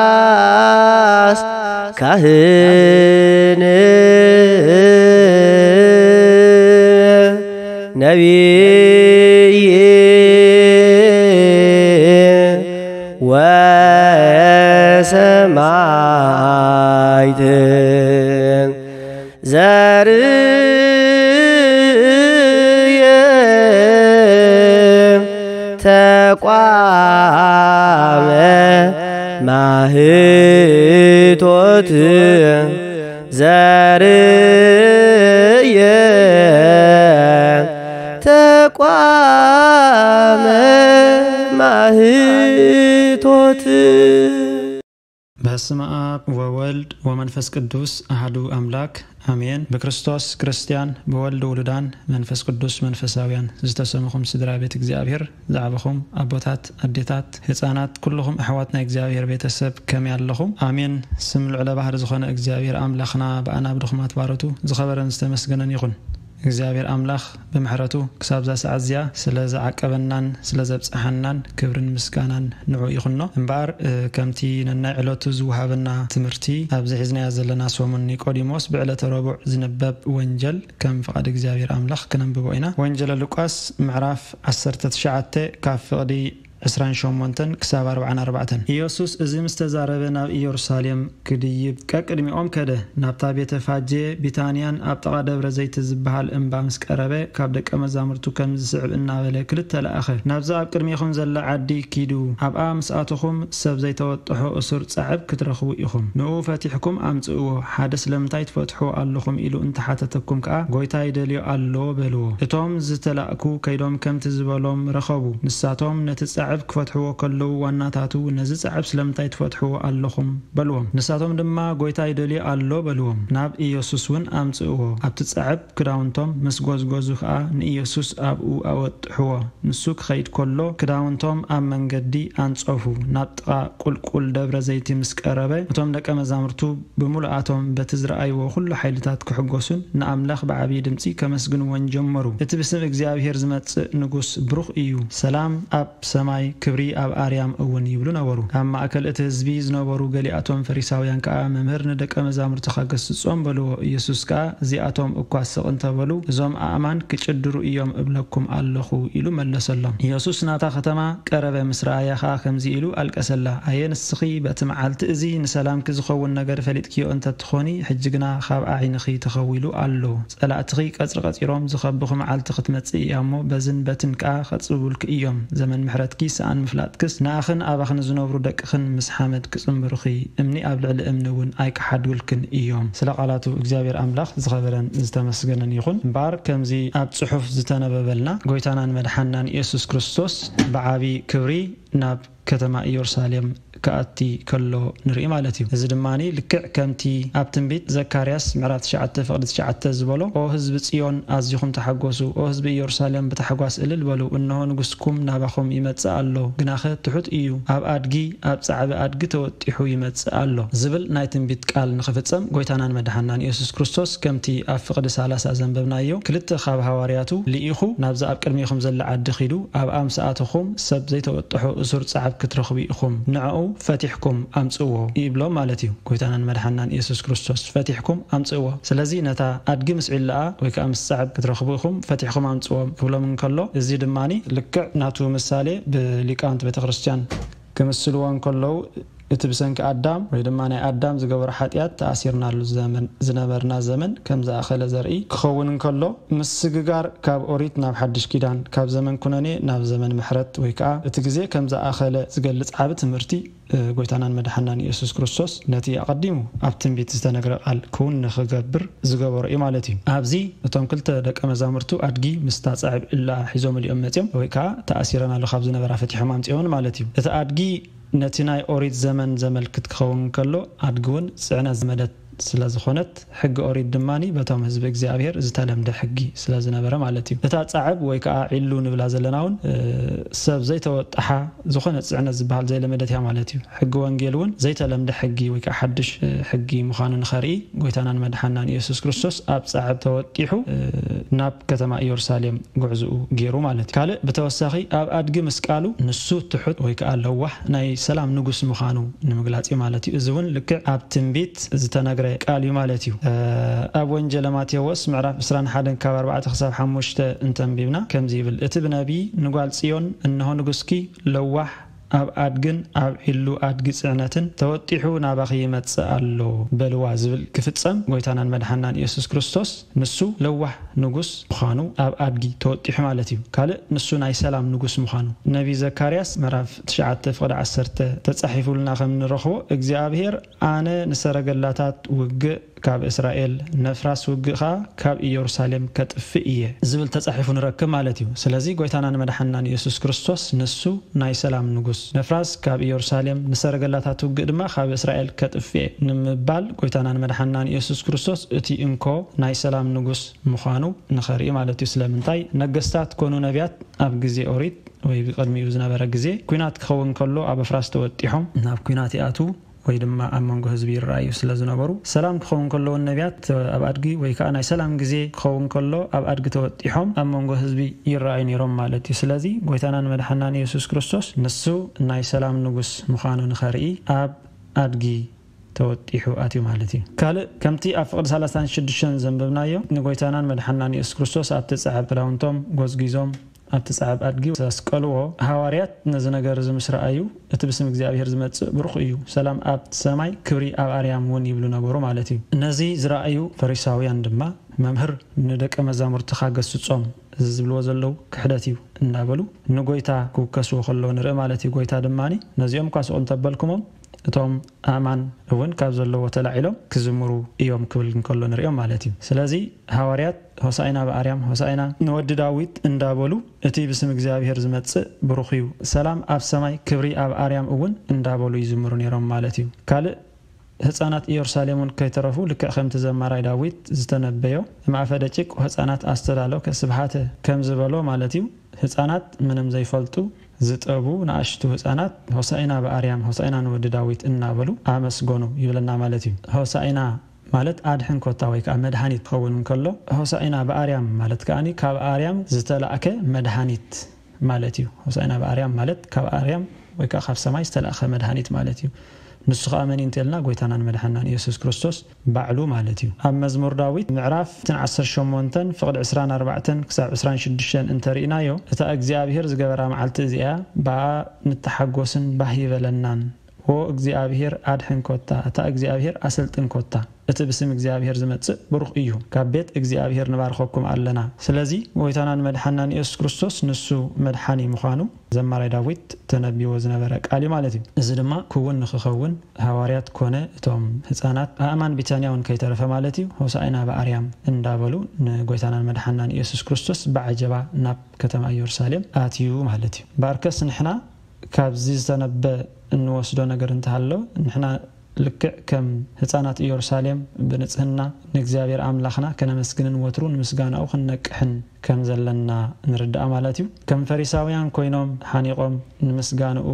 ዘካርያስ ካህን ነቢይ ወሰማዕት ዘርየ ተቋመ ማህቶት ዘርየ ተቋመ ማህቶት። በስመ አብ ወወልድ ወመንፈስ ቅዱስ አሐዱ አምላክ አሜን። ብክርስቶስ ክርስቲያን፣ ብወልድ ውሉዳን፣ መንፈስ ቅዱስ መንፈሳውያን ዝተሰምኹም ስድራ ቤት እግዚኣብሔር ዝዓበኹም ኣቦታት፣ ኣዴታት፣ ህፃናት፣ ኩልኹም ኣሕዋት ናይ እግዚኣብሔር ቤተሰብ ከመይ ኣለኹም? ኣሜን። ስም ልዕለ ባህር ዝኾነ እግዚኣብሔር ኣምላኽና ብኣና ብድኹማት ባሮቱ ዝኸበረን ዝተመስገነን ይኹን። እግዚኣብሔር ኣምላኽ ብምሕረቱ ክሳብዛ ሰዓት እዚኣ ስለ ዝዓቀበናን ስለ ዘብጽሓናን ክብርን ምስጋናን ንዑ ይኹኖ። እምበኣር፣ እ፣ ከምቲ ነናይ ዕለቱ ዝወሃበና ትምህርቲ ኣብዚ ሒዝናዮ ዘለና ሰሙን ኒቆዲሞስ ብዕለተ ረቡዕ ዝንበብ ወንጀል ከም ፍቓድ እግዚኣብሔር ኣምላኽ ክነንብቦ ኢና። ወንጀለ ሉቃስ ምዕራፍ ዓሰርተ ትሽዓተ ካብ ፍቕዲ ዕስራን ሸሞንተን ክሳብ ኣርባዓን ኣርባዕተን። ኢየሱስ እዚ ምስ ተዛረበ ናብ ኢየሩሳሌም ክድይብ ቀቅድሚኦም ከደ። ናብታ ቤተ ፋጄ ቢታንያን ኣብ ጥቓ ደብረ ዘይቲ ዝበሃል እምባ ምስ ቀረበ ካብ ደቀ መዛሙርቱ ከም ዝስዕብ እናበለ ክልተ ለኣኸ። ናብዛ ኣብ ቅድሜኹም ዘላ ዓዲ ኪዱ፣ ኣብኣ ምስ ኣተኹም ሰብ ዘይተወጥሖ እሱር ጻዕብ ክትረኽቡ ኢኹም። ንኡ ፈቲሕኩም ኣምጽእዎ። ሓደ ስለምንታይ ትፈትሕዎ ኣለኹም ኢሉ እንተሓተተኩም ከኣ ጎይታ ይደልዮ ኣሎ በልዎ። እቶም ዝተላእኩ ከይዶም ከምቲ ዝበሎም ረኸቡ። ንሳቶም ነቲ ጻዕብ ክፈትሕዎ ከለዉ ዋናታቱ ነዚ ጻዕብ ስለምንታይ ትፈትሕዎ ኣለኹም በልዎም። ንሳቶም ድማ ጎይታ ይደልዮ ኣሎ በልዎም። ናብ ኢየሱስ እውን ኣምጽእዎ። ኣብቲ ጻዕብ ክዳውንቶም ምስ ጎዝጎዙ ከኣ ንኢየሱስ ኣብኡ ኣወጥሕዎ። ንሱ ክኸይድ ከሎ ክዳውንቶም ኣብ መንገዲ ኣንጸፉ። ናብ ጥቓ ቁልቁል ደብረ ዘይቲ ምስ ቀረበ እቶም ደቀ መዛሙርቱ ብምሉኣቶም በቲ ዝረኣይዎ ኩሉ ሓይልታት ክሕጎሱን ንኣምላኽ ብዓብዪ ድምጺ ከመስግንዎን ጀመሩ። እቲ ብስም እግዚኣብሔር ዝመጽእ ንጉስ ብሩኽ እዩ። ሰላም ኣብ ሰማይ ክብሪ ኣብ ኣርያም እውን ይብሉ ነበሩ። ኣብ ማእከል እቲ ህዝቢ ዝነበሩ ገሊኣቶም ፈሪሳውያን ከኣ መምህር ንደቀ መዛሙርትኻ ገስጾም በልዎ። ኢየሱስ ከኣ እዚኣቶም እኳ ስቕ እንተበሉ እዞም ኣእማን ክጭድሩ እዮም እብለኩም ኣለኹ ኢሉ መለሰሎም። ኢየሱስ ናታ ከተማ ቀረበ ምስ ረኣያ ከኣ ከምዚ ኢሉ ኣልቀሰላ። ኣየ ንስኺ በቲ መዓልቲ እዚ ንሰላምኪ ዝኸውን ነገር ፈሊጥክዮ እንተትኾኒ ሕጂ ግና ካብ ኣዒንኺ ተኸዊሉ ኣሎ። ጸላእትኺ ቀጽሪ ቀጺሮም ዝኸብኺ መዓልቲ ክትመጽእ እያ እሞ በዝን በትን ከኣ ከጽብቡልኪ እዮም። ዘመን ምሕረትኪ ሰኣን ምፍላጥክስ ንኣኽን ኣባኽን ዝነብሩ ደቅኽን ምስ ሓመድ ክጽንብሩኺ እምኒ ኣብ ልዕሊ እምኒ እውን ኣይክሓድጉልክን እዮም። ስለ ቃላቱ እግዚኣብሔር ኣምላኽ ዝኸበረን ዝተመስገነን ይኹን። እምበኣር ከምዚ ኣብ ጽሑፍ ዝተነበበልና ጎይታናን መድሓናን ኢየሱስ ክርስቶስ ብዓቢ ክብሪ ናብ ከተማ ኢየሩሳሌም ክኣቲ ከሎ ንርኢ ማለት እዩ። እዚ ድማ ልክዕ ከምቲ ኣብ ትንቢት ዘካርያስ ምዕራፍ ትሽዓተ ፍቕዲ ትሽዓተ ዝበሎ፣ ኦ ህዝቢ ጽዮን ኣዚኹም ተሓጎሱ፣ ኦ ህዝቢ ኢየሩሳሌም ብታሕጓስ እልል በሉ፣ እንሆ ንጉስኩም ናባኹም ይመጽእ ኣሎ፣ ግናኸ ትሑት እዩ፣ ኣብ ኣድጊ ኣብ ጻዕቢ ኣድጊ ተወጢሑ ይመጽእ ኣሎ ዝብል ናይ ትንቢት ቃል ንኽፍጸም ጎይታናን መድሓናን ኢየሱስ ክርስቶስ ከምቲ ኣብ ፍቕዲ ሰላሳ ዘንበብናዮ ክልተ ካብ ሃዋርያቱ ልኢኹ ናብዛ ኣብ ቅድሜኹም ዘላ ዓዲ ኺዱ ኣብኣ ምስ ኣተኹም ሰብ ዘይተወጥሖ እሱር ጻዕብ ክትረኽቡ ኢኹም፣ ንዕኡ ፈቲሕኩም ኣምጽእዎ ይብሎም ማለት እዩ። ጎይታናን መድሓናን ኢየሱስ ክርስቶስ ፈቲሕኩም ኣምጽእዎ። ስለዚ ነታ ኣድጊ ምስ ዒላኣ ወይ ከኣ ምስ ጻዕብ ክትረኽቡ ኢኹም፣ ፈቲሕኩም ኣምጽእዎም ክብሎም እንከሎ፣ እዚ ድማ ልክዕ ናቱ ምሳሌ ብሊቃውንቲ ቤተ ክርስቲያን ክምስልዎ እንከለዉ፣ እቲ ብሰንኪ ኣዳም ወይ ድማ ናይ ኣዳም ዝገበሮ ሓጢኣት ተኣሲርናሉ ዘመን ዝነበርና ዘመን ከም ዝኣኸለ ዘርኢ ክኸውን እንከሎ፣ ምስግጋር ካብ ኦሪት ናብ ሓድሽ ኪዳን፣ ካብ ዘመን ኩነኔ ናብ ዘመን ምሕረት ወይ ከኣ እቲ ግዜ ከም ዝኣኸለ ዝገልጽ ዓቢ ትምህርቲ፣ እ፣ ጎይታናን መድሓናን ኢየሱስ ክርስቶስ ነቲ ኣቐዲሙ ኣብ ትንቢት ዝተነግረ ቃል ክውን ንኽገብር ዝገበሮ እዩ ማለት እዩ። ኣብዚ እቶም ክልተ ደቀ መዛሙርቱ ኣድጊ ምስታ ጻዕብ እላ ሒዞምሉ እዮም መጺኦም፣ ወይ ከኣ ተኣሲረናሉ ካብ ዝነበራ ፈቲሖም ኣምጺኦምን ማለት እዩ። እቲ ኣድጊ ነቲ ናይ ኦሪት ዘመን ዘመልክት ክኸውን ከሎ፣ ኣድጊ እውን ጽዕነት ዝመደት ስለ ዝኾነት፣ ሕጊ ኦሪት ድማ በቶም ህዝቢ እግዚኣብሔር ዝተለምደ ሕጊ ስለ ዝነበረ ማለት እዩ። እታ ጻዕብ ወይ ከዓ ዒሉ ንብላ ዘለና እውን ሰብ ዘይተወጥሓ ዝኾነ ጽዕነት ዝበሃል ዘይለመደት እያ ማለት እዩ። ሕጊ ወንጌል እውን ዘይተለምደ ሕጊ ወይ ከዓ ሓድሽ ሕጊ ምዃኑ ንኸርኢ፣ ጎይታናን መድሓናን ኢየሱስ ክርስቶስ ኣብ ጻዕብ ተወጢሑ ናብ ከተማ ኢየሩሳሌም ጉዕዝኡ ገይሩ ማለት እዩ። ካልእ ብተወሳኺ ኣብ ኣድጊ ምስቃሉ ንሱ ትሑት ወይ ከዓ ለዋህ ናይ ሰላም ንጉስ ምዃኑ ንምግላጽ እዩ ማለት እዩ። እዚ እውን ልክዕ ኣብ ትንቢት ዝተነግረ ቃል እዩ ማለት እዩ። ኣብ ወንጀለ ማቴዎስ ምዕራፍ ዕስራን ሓደን ካብ ኣርባዕተ ክሳብ ሓሙሽተ እንተንቢብና ከምዚ ይብል፣ እቲ ብነቢይ ንጓል ጽዮን እንሆ ንጉስኪ ለዋህ ኣብ ኣድግን ኣብ ዒሉ ኣድጊ ጽዕነትን ተወጢሑ ናባኺ ይመጽእ ኣሎ በልዋ ዝብል ክፍጸም፣ ጎይታናን መድሓናን ኢየሱስ ክርስቶስ ንሱ ለዋህ ንጉስ ምዃኑ ኣብ ኣድጊ ተወጢሑ ማለት እዩ። ካልእ ንሱ ናይ ሰላም ንጉስ ምዃኑ ነቢ ዘካርያስ ምዕራፍ ትሽዓተ ፍቕዲ ዓሰርተ ተጻሒፉልና ከም ንረኽቦ፣ እግዚኣብሔር ኣነ ንሰረገላታት ውግእ ካብ እስራኤል፣ ነፍራስ ውግእ ኸዓ ካብ ኢየሩሳሌም ከጥፍእ እየ ዝብል ተጻሒፉ ንረክብ ማለት እዩ። ስለዚ ጎይታናን መድሓናን ኢየሱስ ክርስቶስ ንሱ ናይ ሰላም ንጉስ፣ ነፍራስ ካብ ኢየሩሳሌም፣ ንሰረገላታት ውግእ ድማ ካብ እስራኤል ከጥፍእ እየ ንምባል ጎይታናን መድሓናን ኢየሱስ ክርስቶስ እቲ እንኮ ናይ ሰላም ንጉስ ምዃኑ ንኸርኢ ማለት እዩ። ስለምንታይ? ነገስታት ኮኑ ነቢያት ኣብ ግዜ ኦሪት ወይ ብቐድሚኡ ዝነበረ ግዜ ኲናት ክኸውን ከሎ ኣብ ኣፍራስ ተወጢሖም ናብ ኲናት ይኣትዉ ወይ ድማ ኣብ መንጎ ህዝቢ ይረኣዩ ስለ ዝነበሩ፣ ሰላም ክኸውን ከሎ እውን ነቢያት ኣብ ኣድጊ ወይ ከዓ ናይ ሰላም ግዜ ክኸውን ከሎ ኣብ ኣድጊ ተወጢሖም ኣብ መንጎ ህዝቢ ይረኣዩ ነይሮም ማለት እዩ። ስለዚ ጎይታናን መድሓናን ኢየሱስ ክርስቶስ ንሱ ናይ ሰላም ንጉስ ምዃኑ ንኸርኢ ኣብ ኣድጊ ተወጢሑ ኣትዩ ማለት እዩ። ካልእ ከምቲ ኣብ ፍቕዲ ሰላሳን ሽዱሽተን ዘንበብናዮ ንጎይታናን መድሓናን ኢየሱስ ክርስቶስ ኣብቲ ጸዓብ ክዳውንቶም ጎዝጊዞም ኣብቲ ጸዓብ ኣድጊ ዘስቀልዎ ሃዋርያት ነዚ ነገር እዚ ምስ ረኣዩ፣ እቲ ብስም እግዚኣብሔር ዝመጽእ ብሩኽ እዩ፣ ሰላም ኣብ ሰማይ ክብሪ ኣብ ኣርያም እውን ይብሉ ነበሩ ማለት እዩ። ነዚ ዝረኣዩ ፈሪሳውያን ድማ መምህር ንደቀ መዛሙርትኻ ገስጾም፣ እዚ ዝብልዎ ዘለዉ ክሕደት እዩ እናበሉ ንጎይታ ክውከስዎ ከለዉ ንርኢ ማለት እዩ። ጎይታ ድማ ነዚኦም እኳ ስቕ እንተበልኩሞም እቶም ኣእማን እውን ካብ ዘለዎ ተላዒሎም ክዝምሩ እዮም ክብል እንከሎ ንሪኦም ማለት እዩ። ስለዚ ሃዋርያት ሆሳኢና ብኣርያም፣ ሆሳኢና ንወዲ ዳዊት እንዳበሉ እቲ ብስም እግዚኣብሔር ዝመጽእ ብሩኽ እዩ፣ ሰላም ኣብ ሰማይ ክብሪ ኣብ ኣርያም እውን እንዳበሉ ይዝምሩ ነይሮም ማለት እዩ። ካልእ ህፃናት ኢየሩሳሌም እውን ከይተረፉ ልክዕ ከምቲ ዘማራይ ዳዊት ዝተነበዮ እምኣፈ ደቂቅ ህፃናት ኣስተዳሎ ከስብሃተ ከም ዝበሎ ማለት እዩ። ህፃናት ምንም ዘይፈልጡ ዝጠቡ ንኣሽቱ ህፃናት ሆሳኢና ብኣርያም ሆሳኢና ንወዲ ዳዊት እናበሉ ኣመስገኑ ይብለና ማለት እዩ። ሆሳኢና ማለት ኣድሕን ኮታ ወይ ከዓ መድሃኒት ክኸውን እንከሎ ሆሳኢና ብኣርያም ማለት ከዓኒ ካብ ኣርያም ዝተላእከ መድሃኒት ማለት እዩ። ሆሳኢና ብኣርያም ማለት ካብ ኣርያም ወይ ከዓ ካብ ሰማይ ዝተላእከ መድሃኒት ማለት እዩ። ንሱ ከዓ መን እዩ እንተልና ጎይታናን መድሓናን ኢየሱስ ክርስቶስ ባዕሉ ማለት እዩ። ኣብ መዝሙር ዳዊት ምዕራፍ እትን ዓሰርተ ሸሞንተን ፍቕዲ ዕስራን ኣርባዕተን ክሳብ ዕስራን ሽዱሽተን እንተርኢናዮ እታ እግዚኣብሔር ዝገበራ መዓልቲ እዚኣ ብኣ ንተሓጎስን ባህ ይበለናን። ዎ እግዚኣብሔር ኣድሕን ኮታ፣ እታ እግዚኣብሔር ኣሰልጥን ኮታ፣ እቲ ብስም እግዚኣብሔር ዝመጽእ ብሩኽ እዩ። ካብ ቤት እግዚኣብሔር ንባርኸኩም ኣለና። ስለዚ ጎይታናን መድሓናን ኢየሱስ ክርስቶስ ንሱ መድሓኒ ምዃኑ ዘማራይ ዳዊት ተነቢዎ ዝነበረ ቃል እዩ ማለት እዩ። እዚ ድማ ክውን ንክኸውን ሃዋርያት ኮነ እቶም ህፃናት ኣእማን ቢታንያ እውን ከይተረፈ ማለት እዩ ሆሳኢና ብኣርያም እንዳበሉ ንጎይታናን መድሓናን ኢየሱስ ክርስቶስ ብዓጀባ ናብ ከተማ ኢየሩሳሌም ኣትዩ ማለት እዩ። ባርከስ ንሕና ካብዚ ዝተነበ እንወስዶ ነገር እንተሃሎ ንሕና ልክዕ ከም ህፃናት ኢየሩሳሌም ብንጽህና ንእግዚኣብሔር ኣምላኽና ከነመስግንን ወትሩ ንምስጋናኡ ክንነቅሕን ከም ዘለና ንርዳእ ማለት እዩ። ከም ፈሪሳውያን ኮይኖም ሓኒቖም ንምስጋንኡ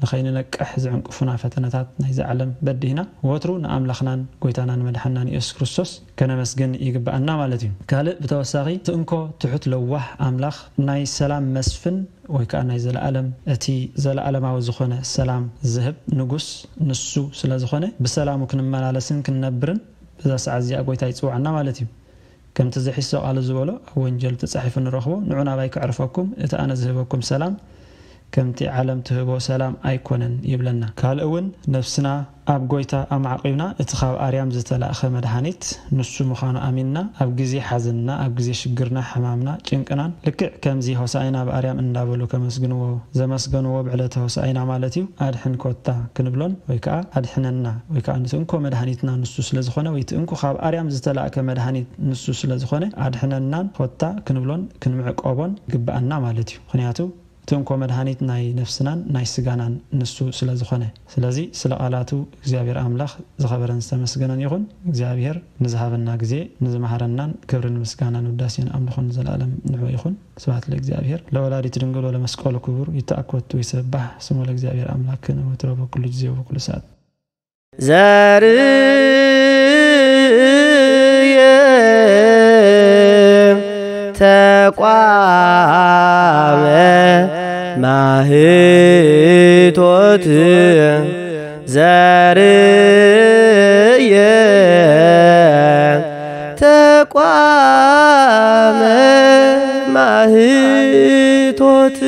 ንኸይንነቅሕ ዝዕንቅፉና ፈተነታት ናይዚ ዓለም በዲህና ወትሩ ንኣምላኽናን ጎይታናን መድሓናን ኢየሱስ ክርስቶስ ከነመስግን ይግብኣና ማለት እዩ። ካልእ ብተወሳኺ እቲ እንኮ ትሑት ለዋህ ኣምላኽ ናይ ሰላም መስፍን ወይ ከዓ ናይ ዘለኣለም እቲ ዘለኣለማዊ ዝኾነ ሰላም ዝህብ ንጉስ ንሱ ስለ ዝኾነ ብሰላሙ ክንመላለስን ክንነብርን በዛ ሰዓት እዚኣ ጎይታ ይፅውዓና ማለት እዩ። ከምቲ ዝሒሶ ቃሉ ዝበሎ ኣብ ወንጀል ተጻሒፉ ንረኽቦ ንዑ ናባይ ክዕርፈኩም እቲ ኣነ ዝህበኩም ሰላም ከምቲ ዓለም ትህቦ ሰላም ኣይኮነን ይብለና። ካልእ እውን ነፍስና ኣብ ጎይታ ኣማዕቂብና እቲ ካብ ኣርያም ዝተላእኸ መድሃኒት ንሱ ምዃኑ ኣሚንና ኣብ ግዜ ሓዘንና ኣብ ግዜ ሽግርና ሕማምና ጭንቅናን ልክዕ ከምዚ ሆሳኢና ብኣርያም እንዳበሉ ከመስግንዎ ዘመስገንዎ ብዕለተ ሆሳኢና ማለት እዩ ኣድሕን ኮታ ክንብሎን ወይ ከዓ ኣድሕነና ወይ ከዓ ንትእንኮ መድሃኒትና ንሱ ስለ ዝኾነ ወይ ትእንኮ ካብ ኣርያም ዝተላእከ መድሃኒት ንሱ ስለ ዝኾነ ኣድሕነናን ኮታ ክንብሎን ክንምዕቆቦን ግብኣና ማለት እዩ። ምክንያቱ እቲ እንኮ መድሃኒት ናይ ነፍስናን ናይ ስጋናን ንሱ ስለ ዝኾነ። ስለዚ ስለ ቃላቱ እግዚኣብሔር ኣምላኽ ዝኸበረን ዝተመስገነን ይኹን። እግዚኣብሔር ንዝሃበና ግዜ፣ ንዝመሃረናን ክብርን ምስጋናን ውዳሴን ኣምልኾን ንዘለኣለም ንዑ ይኹን። ስብሐት ለእግዚኣብሔር ለወላዲት ድንግል ወለመስቀሉ ክቡር። ይትአኮቱ ይሰባሕ ስሙ ለእግዚኣብሔር ኣምላክ ንወትሮ በኩሉ ጊዜ ወበኩሉ ሰዓት። ዘርየ ተቋመ ማህቶት ዘርየ ተቋመ ማህቶት